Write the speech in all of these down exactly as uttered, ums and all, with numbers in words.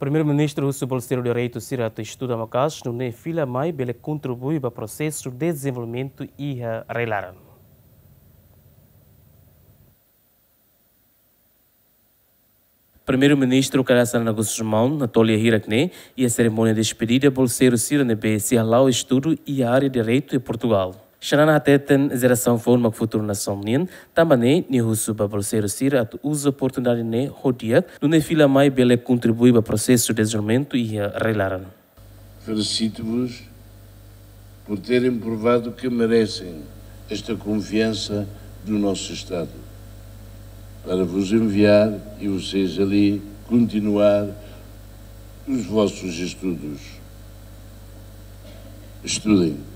Primeiru-Ministru husu bolseiru direitu sira atu estuda maka'as, nune'e fila mai bele kontribui ba prosesu dezenvolvimentu iha rai-laran. Primeiru-Ministru Kay Rala Xanana Gusmão, Anatolia hirak ne'e, iha serimónia despedida bolseiru sira ne'ebé sei hala'o estudu iha área direitu iha Portugal. Xanana hateten jerasaun foun mak futuru nasaun nian, tanba ne'e nia husu ba bolseiru sira atu uza oportunidade ne'e ho di'ak, nune'e fila mai bele kontribui ba prosesu dezenvolvimentu iha rai-laran. Felicito-vos por terem provado que merecem esta confiança do nosso Estado, para vos enviar e vocês ali continuar os vossos estudos. Estudem.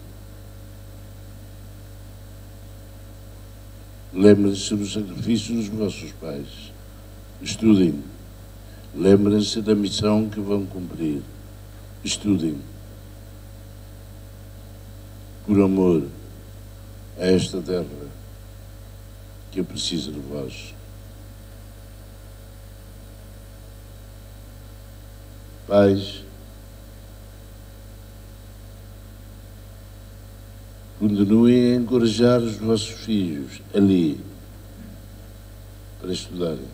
Lembrem-se do sacrifício dos vossos pais. Estudem. Lembrem-se da missão que vão cumprir. Estudem. Por amor a esta terra que precisa de vós. Pais, continuem a encorajar os vossos filhos ali para estudarem.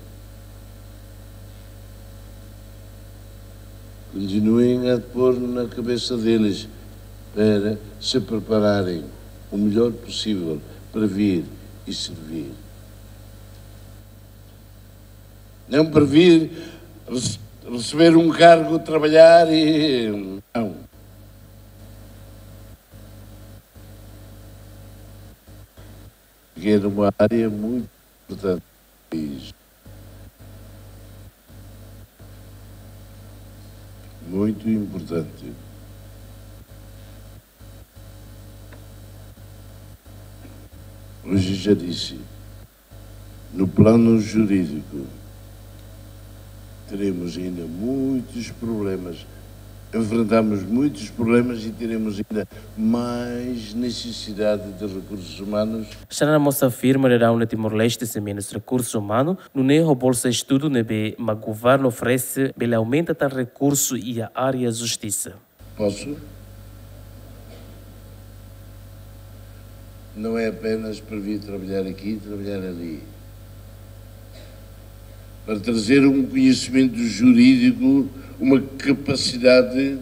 Continuem a pôr na cabeça deles para se prepararem o melhor possível para vir e servir. Não para vir rece-, receber um cargo, trabalhar e. Não. Que é uma área muito importante do país. Muito importante. Hoje já disse, no plano jurídico, teremos ainda muitos problemas. Enfrentamos muitos problemas e teremos ainda mais necessidade de recursos humanos. Xanana mós afirma daudaun ne'e Timor-Leste sei menus rekursu umanu, nune'e ho bolsa estudu ne'ebé mak governu oferese bele aumenta tan rekursu iha área justisa. Posso? Não é apenas para vir trabalhar aqui e trabalhar ali. Para trazer um conhecimento jurídico, uma capacidade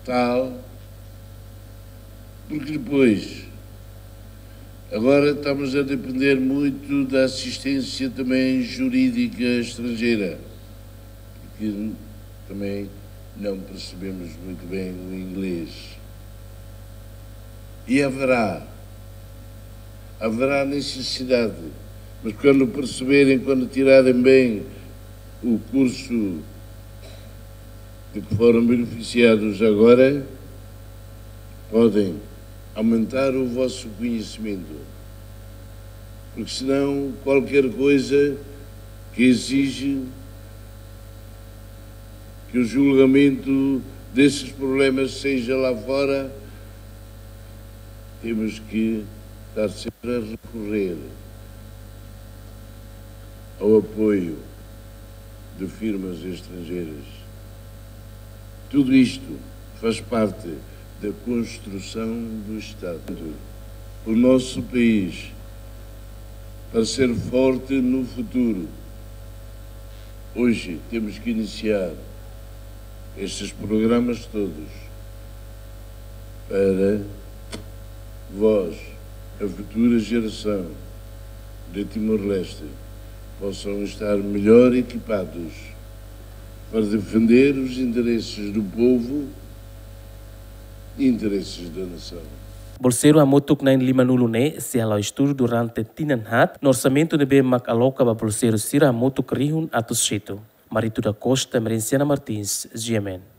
tal, porque depois, agora estamos a depender muito da assistência também jurídica estrangeira, porque também não percebemos muito bem o inglês. E haverá, haverá necessidade, mas quando perceberem, quando tirarem bem o curso de que foram beneficiados agora, podem aumentar o vosso conhecimento. Porque senão, qualquer coisa que exige que o julgamento desses problemas seja lá fora, temos que estar sempre a recorrer ao apoio de firmas estrangeiras. Tudo isto faz parte da construção do Estado. O nosso país, para ser forte no futuro, hoje temos que iniciar estes programas todos para vós, a futura geração de Timor-Leste, possam estar melhor equipados para defender os interesses do povo e interesses da nação. Bolseiru hamutuk na'in lima-nulu ne'e sei hala'o estudu durante tinan haat, no orsamentu ne'ebé mak aloka ba bolseiru sira hamutuk rihun atus hitu. Marito da Costa, Emerenciana Martins, G M N.